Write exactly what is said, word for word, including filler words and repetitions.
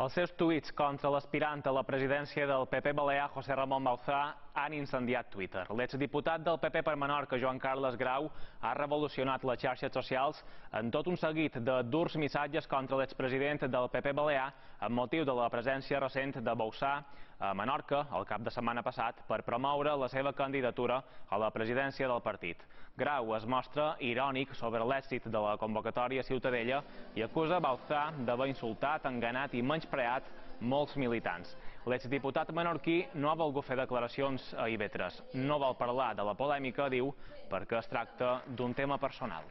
Els seus tuits contra l'aspirant a la presidència del P P balear, José Ramón Bauzá, han incendiat Twitter. L'exdiputat del P P per Menorca, Joan Carles Grau, ha revolucionat les xarxes socials en tot un seguit de durs missatges contra l'expresident del P P balear amb motiu de la presència recent de Bauzá a Menorca el cap de setmana passat per promoure la seva candidatura a la presidència del partit. Grau es mostra irònic sobre l'èxit de la convocatòria Ciutadella i acusa Bauzá d'haver insultat, enganat i menyspreat molts militants. L'exdiputat menorquí no ha volgut fer declaracions a I V tres. No vol parlar de la polèmica, diu, perquè es tracta d'un tema personal.